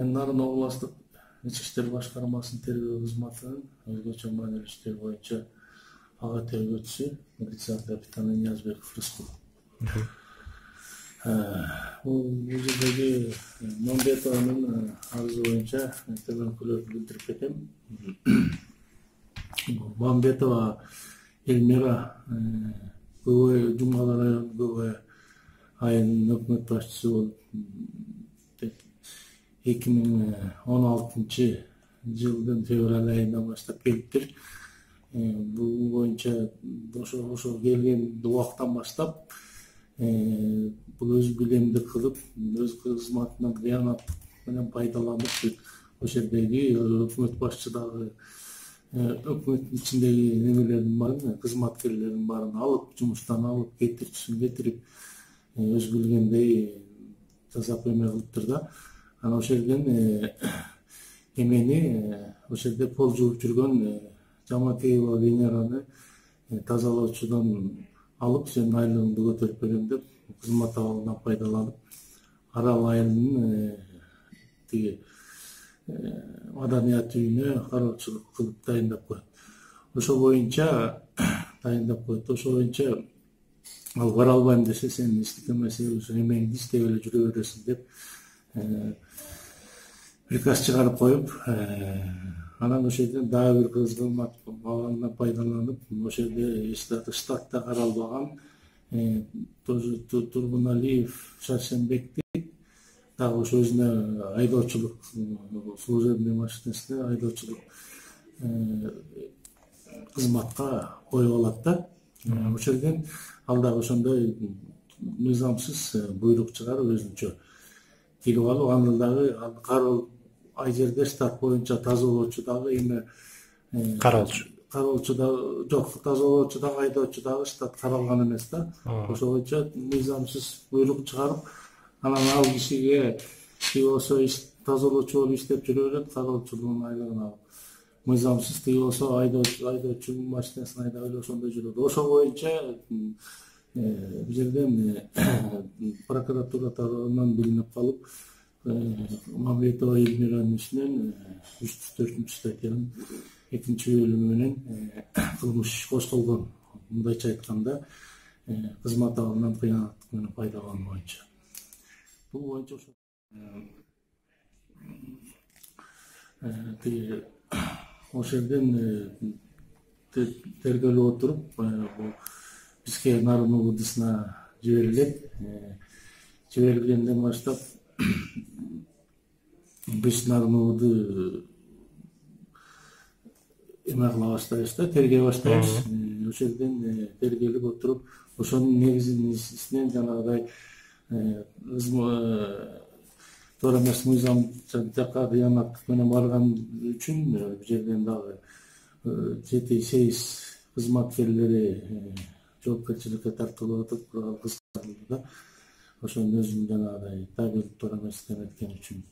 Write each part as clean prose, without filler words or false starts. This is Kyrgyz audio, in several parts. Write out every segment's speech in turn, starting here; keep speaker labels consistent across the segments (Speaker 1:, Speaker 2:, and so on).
Speaker 1: Нарын областык ички иштер башкармасынын тергөө кызматынын өзгөчө маанилүү иштер боюнча ага тергөөчүсү милиция капитаны Ниязбеков Рыскул. Бул жердеги Мамбетованын арызы боюнча төмөнкүлөрдү билдирип кетем. Мамбетова Эльмира КВ Жумгала району КВ айынын өкмөт башчысы болуп 2016 жылдын февраль айынан баштап келиптир. Бул боюнча ошо келген убактан баштап бул өз билемдик кылып, өз кызматынан кыянаттык менен пайдаланып, ошол жердеги өкмөт башчы дагы өкмөттүн ичиндеги немелердин баарын, кызматкерлердин баарын алып, жумуштан алып, кетирчисин кетирип, өз билгендей жасап эме кылыптыр да. Анан ошол жерден эмени ошол жерде пол жууп жүргөн Жамакеева Венераны тазалоочудон алып, сен айлыгыңды көтөрүп берем деп, кызмат абалынан пайдаланып, Арал айылынын тиги маданият үйүнө кароочулук кылып дайындап коет. Ошол боюнча ошол боюнча ал бара албайм десе, сен иштик эмеси эмеңди иштеп эле жүрө бересиң деп приказ чыгарып коюп, анан ошол жерден дагы бир кызмат абалынан пайдаланып, ошол жерде штатта каралбаган тоже Тургуналиев Шаршенбекти дагы ошо өзүнө айдоочулук служебный машинесине айдоочулук кызматка коюп алат да. Ошол жерден ал дагы ошондой мыйзамсыз буйрук чыгарып өзүнчө келип алып, аны дагы кароо ай жерде штат боюнча тазалоочу дагы эме кароочу да жок, тазалоочу дагы айдоочу дагы штат каралган эмес да. Ошол боюнча мыйзамсыз буйрук чыгарып, анан ал кишиге тиги болсо тазалоочу болуп иштеп жүрө берет, кароочулугунун айлыгын алып. Мыйзамсыз тиги болсо айдоочу машинесин айдап эле ошондой жүрөт. Ошол боюнча бул жерден прокуратура тарабынан билинип калып, Мамбетова Эльмиранын ишинен 304 статьянын 2-бөлүмү менен кылмыш иш козголгон. Мындайча айтканда, кызмат абалынан кыянаттык менен пайдалануу боюнча. Бул боюнча ошол жерден тергелип отуруп, бизге Нарын УВДсына жиберилет. Жиберилгенден баштап биз Нарын УВД эме кыла баштайбыз да, тергей баштайбыз. Ошол жерден тергелип отуруп, ошонун негизинен жанагыдай туура эмес мыйзам жакка кыянаттык менен барган үчүн бул жерден дагы 7-8 кызматкерлери жоопкерчиликке тартылып атып, кыскартылды да. Ошонун өзүнүн жанагыдай табелик туура эмес эметкен үчүн.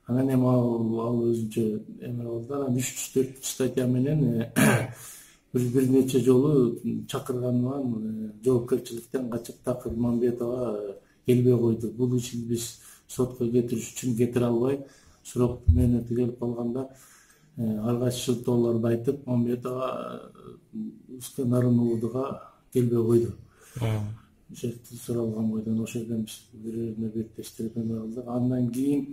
Speaker 1: Анан эми ал өзүнчө эме болду. Анан 304 статья менен бир нече жолу чакырганынан жоопкерчиликтен качып, такыр Мамбетова келбей койду. Бул ишин биз сотко кетириш үчүн кетире албай, срок мөөнөтү келип калганда ар кайсы шылтоолорду айтып, Мамбетова Нарын УВДга келбей койду. Ошентип суралган бойдон ошол жерден биз бири-бирине беттештирип эме кылдык. Андан кийин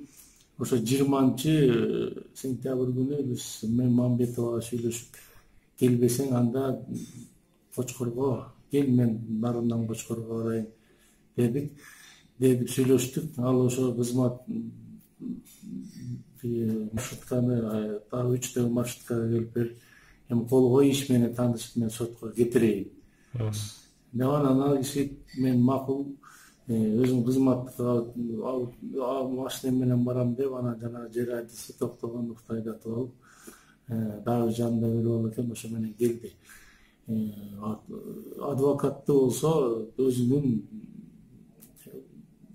Speaker 1: ошо 20-сентябрь күнү биз мен Мамбетовага сүйлөшүп, келбесең анда Кочкорго кел, мен Нарындан Кочкорго барайын дедик. Деп сүйлөштүк. Ал ошо кызмат маршрутканы дагы 3 маршруткага келип берип, эми кол кой, иш менен таанышып, мен сотко кетирейин. Анан ал киши мен макул, өзүм кызматка машинем менен барам деп, анан жана жер адреси токтогондукту айдатып алып, дагы жанында бiri бол экен, ошо менен келди. Адвокатты болсо өзүнүн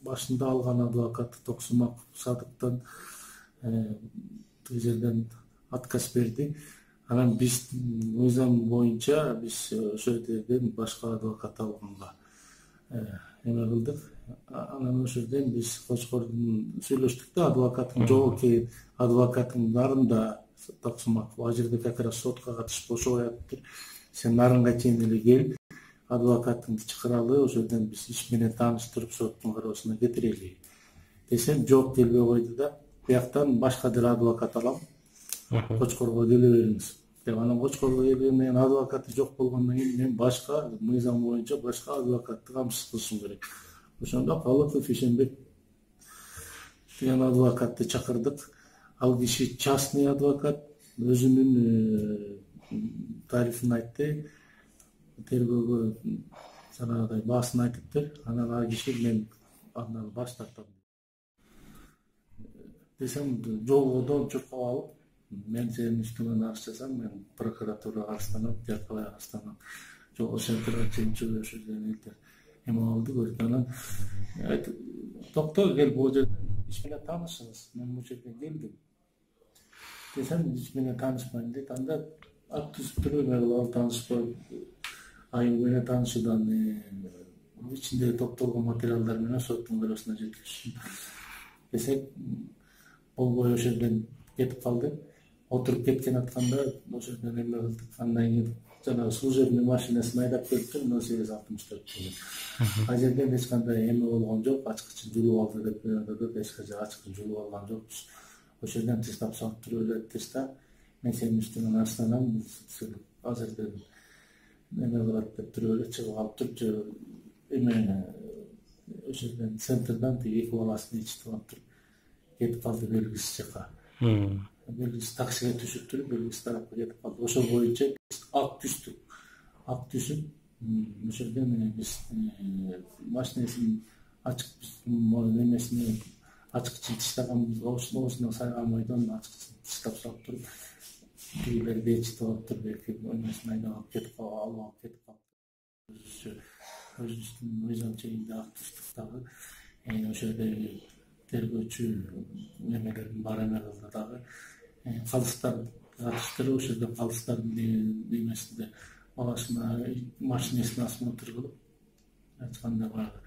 Speaker 1: башында алган адвокаты Токсумак Садыктан тиги жерден отказ берди. Анан биз мыйзам боюнча биз ошол жерден башка адвокат алганга эме кылдык. Анан ошол жерден биз Кочкордун сүйлөштүк да, адвокаттын жогорку адвокаттын нарында Таксымаков ал жерде как раз сотко катышып ошо аяптыр. Сен нарынга чейин эле кел, адвокаттыңды чакыралы, ошол жерден биз иш менен тааныштырып соттун кароосуна кетирели десем, жооп келбей койду да. Бияктан башка деле адвокат алам, Кочкорго келе бериңиз деп. Анан Кочкорго келгенден кийин адвокаты жок болгондон кийин мен башка мыйзам боюнча башка адвокатты камсыз кылышым керек. Ошондо Калыков Ишенбек деген адвокатты чакырдык. Ал киши частный адвокат, өзүнүн тарифин айтты, тергөөгө жанагыдай баасын айтыптыр. Анан ал киши мен андан баш тартам десем, жолгодон чуркап алып, мен сенин үстүңөн арыз жазам, мен прокуратурага арызданам, жаркабай арызданам. Ошентип чейин ошол жерден элтер эме алды көрдү. Анан токто кел, бул жерде иш менен таанышыңыз, мен бул жерге келдим десем, иш менен таанышпайм дейт. Анда акт түзүп эме кылып таанышпай, айыл менен таанышуудан ичинде топтолгон материалдар менен соттун кароосуна жеткиришим десек, болбой ошол жерден кетип калды. Отуруп кеткен атканда ошол жерден эме кылдык. Андан кийин жанагы служебный машинасына айдап келиптир, 0864 деген. Ал жерден эч кандай эме болгон жок, ачкычын жулуп алды деп өйдөдүк, эч качан ачкычын жулуп алган жокпуз. Ошол жерден тыштап салып туруп эле тышта, мен сенин үстүңөн арызданам, азырдын эме кылат деп туруп эле чыгып калыптыр. Эме ошол жерден центрдан эки баласын ичип алып туруп кетип калды белгисиз жака. Белгисиз таксиге түшүп туруп, белгисиз тарапка кетип калды. Ошол боюнча акт түздүк. Акт түзүп, ошол жерден биз машинесин ачык эмесине ачкычын тыштаганбыз, оосуна сайган бойдон ачкычын тыштап салып туруп, тигилер бечитип алыптыр, белки эмесин айдап алып кетип калып. Өзүбүздүн мыйзам чегинде акт түздүк дагы. Ошол жерде тергөөчү эмелердин баары эме кылды дагы. Калыстар катыштырып, ошол жерде калыстардын эмесинде баласына машинесин осмотр кылып, айтканда баягы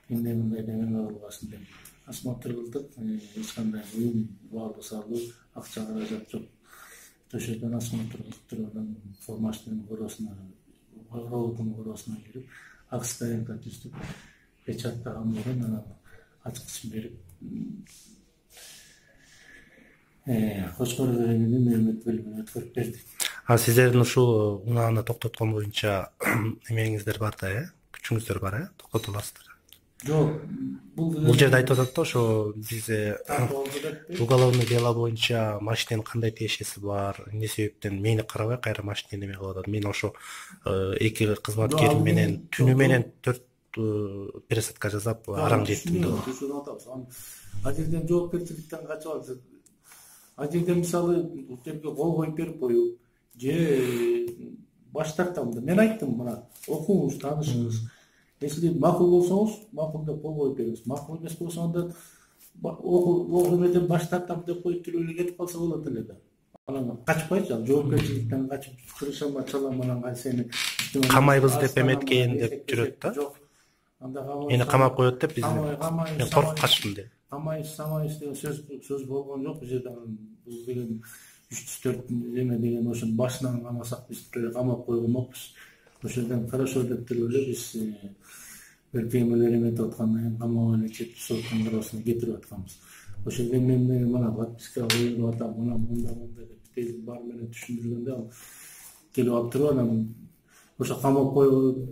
Speaker 1: эмне мындай деп эме кылбасын деп осмотр кылдык. Эч кандай уюм баалуу салуу, акча каражат жок. Ошол жерден осмотр кылып, анан формачтын бюросуна, ровдун бюросуна кирип, акт стоянка түздүк, печаттаган менен анан ачкычын берип, Кочкор районунун өмөт бөлүмүнө өткөрүп бердик.
Speaker 2: Сиздердин ушул унааны токтоткон боюнча эмеңиздер бар да, күчүңүздөр бар, токтото аласыздар?
Speaker 1: Жок,
Speaker 2: бул жерде айтып атат да, ошо бизде уголовный дело боюнча машиненин кандай тиешеси бар, эмне себептен мени карабай кайра машинени эме кылып атат. Мен ошо эки кызматкерим менен түнү менен 4 пересадка жасап араң жеттим да.
Speaker 1: Ал жерден жоопкерчиликтен качып алды. Ал жерде мисалы бул жерге кол коюп берип коюп, же баш тартам да. Мен айттым, мына окуңуз, таанышыңыз. Если макул болсоңуз, макул деп кол коюп бериңиз. Макул эмес болсо анда окуу эмеден баш тартам деп коюп туруп эле кетип калса болот эле да. Анан качпайчы, ал жоопкерчиликтен качып кырышама чалам, анан сени
Speaker 2: камайбыз деп эметкен деп жүрөт да.
Speaker 1: Жок. Анда
Speaker 2: мени камап коет деп биз мен коркуп качтым деп.
Speaker 1: Камайбыз деген сөз болгон жок. Бул жерде бул деген 304 эме деген ошонун башынан камасак биз камап койгонбокпуз. Ошол жерден хорошо деп туруп эле биз белки эмелер эметип аткандан кийин камап эле кетип соттун кароосуна кетирип атканбыз. Ошол жерден мен мына подписка коюп атам, мына мындай деп тез бар менен түшүндүргөндө ал келип алып туруп, анан ошо камап коюп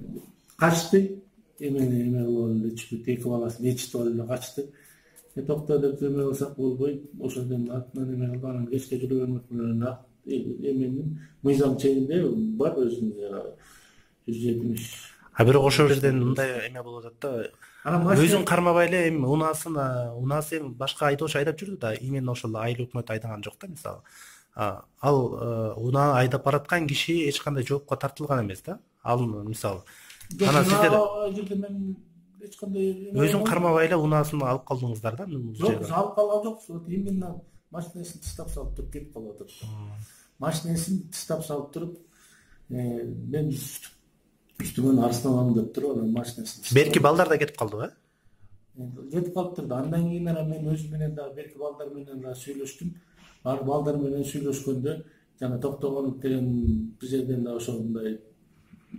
Speaker 1: качты. Эме кылып эле чүгүт, эки баласын ичитип алып эле качты. Токто деп эме кылсак болбойт. Ошол жерден артынан эме кылып, анан кечке жүрө бермөкмүн. Эменин мыйзам чегинде бар өзүнүн 170.
Speaker 2: Бирок ошол жерден мындай эме болуп атат да. Өзүн кармабай эле эми унаасы эми башка айдоочу айдап жүрдү да, именно ошол айыл өкмөт айдаган жок да мисалы. Ал унаа айдап бараткан киши эч кандай жоопко тартылган эмес да. Ал мисалы анан сиздер
Speaker 1: мен эч кандай
Speaker 2: өзүн кармабай эле унаасын алып калдыңыздар да.
Speaker 1: Жок, алып калган жокпуз. Именно машинесин тыштап салып туруп кетип калып атат. Машинесин тыштап салып туруп, мен Üstümen Arsenal'ım деп туруп анан машинасына.
Speaker 2: Берки балдар да кетип калдыбы?
Speaker 1: Кетип калыптыр да. Андан кийин мен өзүм менен дагы берки балдар менен дагы сүйлөштүм. Ар балдар менен сүйлөшкөндө жана Токтогонов деген бир жерден дагы ошондой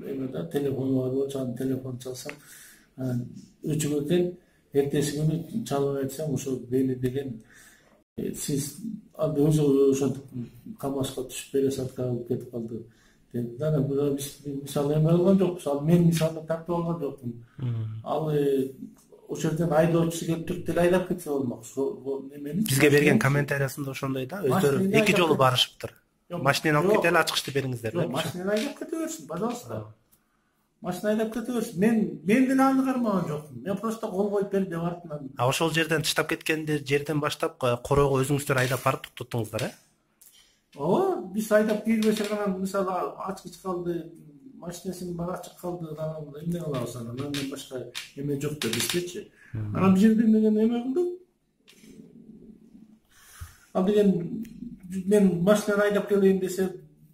Speaker 1: эме да телефону бар болчу, анын телефонун чалсам, өчүк экен, эртеси күнү чалып айтсам, ошо Бени деген сиз өзү ошентип КамАЗга түшүп пересадка алып кетип калды. Дана биз мисалы эме кылган жокпуз. Ал мен мисалы тартып алган жокмун. Ал ошол жерден айдоочусу келип туруп деле айдап кетсе болмок. Немени
Speaker 2: бизге берген комментариясында ошондой да, өздөрү эки жолу барышыптыр. Машинени алып кетели, ачкычты бериңиздер деп.
Speaker 1: Машинени айдап кете берсин, пожалуйста. Машина айдап кете берсин. Мен деле аны кармаган жокмун. Мен просто кол коюп бер деп артынан.
Speaker 2: Ошол жерден тыштап кеткенде жерден баштап коройго өзүңүздөр айдап барып токтоттуңуздар,
Speaker 1: Ооба, биз айдап кирбесек анан мисалы ачкыч калды, машинесинин баары ачык калды, анан эмне кылабыз анан? Андан башка эме жок да биздечи. Анан бир жерден деген эме кылдык. Ал деген мен машинаны айдап келейин десе,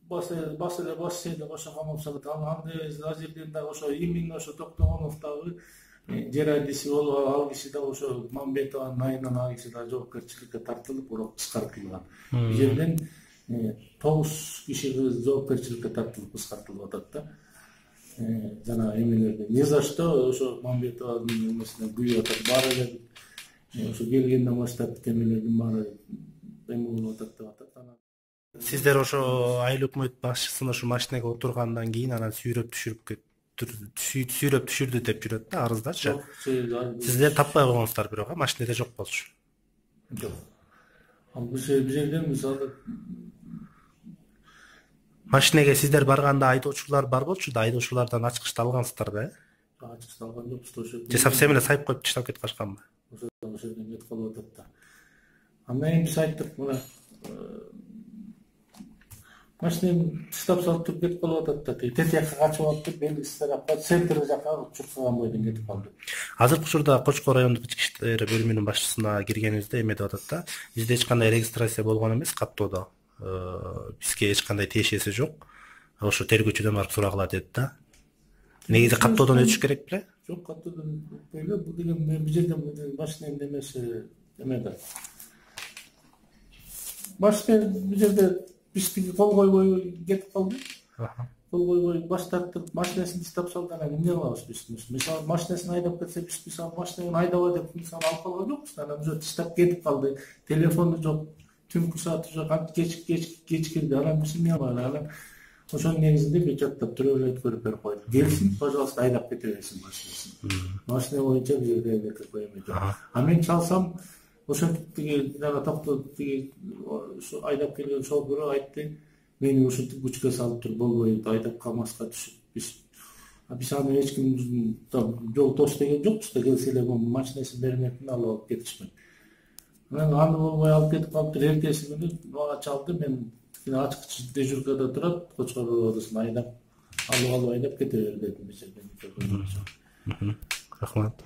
Speaker 1: бассе деп ошо камап салат. Анда ал жерден дагы ошо именно ошо Токтогонов дагы жер адиси болуп, ал киши дагы ошо Мамбетованын айынан ал киши дагы жоопкерчиликке тартылып, бирок кыскартылган. Бул жерден 9 киши жоопкерчиликке тартылып кыскартылып атат да. Жана эмелерди ни за что ошо Мамбетованын эмесине күйүп атат. Баары эле ошо келгенден баштап темелердин баары эме болуп атат деп атат.
Speaker 2: Сиздер ошо айыл өкмөт башчысына ошо машинеге отургандан кийин анан сүйрөп түшүрдү деп жүрөт да арыздачы. Сиздер таппай койгонсуздар бирок машинеде жок болчу.
Speaker 1: Жок. Ал бир жерден мисалы
Speaker 2: машинеге сиздер барганда айдоочулар бар болчу да, айдоочулардан ачкычты алгансыздар да,
Speaker 1: Ачкычты алган жокпуз ошо.
Speaker 2: Же совсем эле сайып коюп таштап кетип калышканбы?
Speaker 1: Ошо жерден кетип калып атат да. Андан кийин биз айттык, мына машинени таштап салып туруп кетип калып атат да. Тетиякка качып алып белгисиз тарапка, центр жака чуркаган бойдон кетип калды.
Speaker 2: Азыркы учурда Кочкор райондук ички иштер бөлүмүнүн башчысына киргенибизде эме деп атат да, бизде эч кандай регистрация болгон эмес каттоодо. Бизге эч кандай тиешеси жок. Ошо тергөөчүдөн барып сурагыла дедит да. Негизи каттоодон өтүш керек беле?
Speaker 1: Жок, каттоодон өтпөй эле. Бул деген бир жерден машиненин эмеси эме да. Машина бир жерде биздики кол койбой кетип калды. Кол койбой баш тартып, машинесин таштап салды. Анан эмне кылабыз биз? Мисалы машинесин айдап кетсе, биз мисалы машинени айдабай деп мисалы алып калган жокпуз. Анан уже таштап кетип калды. Телефону жок, түнкү сааты жок, кеч кирди. Анан биз эмне кылалы? Анан ошонун негизинде бюджеттеп туруп эле өткөрүп берип койдук. Келсин, пожалуйста, айдап кете берсин машинесин. Машина боюнча бир жерде эме жок. А мен чалсам ошентип тиги жана токтотуп тиги ошо айдап келген шофёру айтты, мени ушинтип күчкө салып туруп болбойт, айдап КамАЗга түшүп биз аны эч ким жол тос деген жокпуз да, келсе эле машинесин бермекин алып кетишмек. Мен аны болбой алып кетип калыптыр. Эртеси күнү мага чалды, мен ачкыч дежуркада турат, Кочкор районунда айдап алып айдап кете бер дедим бир жерден.
Speaker 2: Рахмат.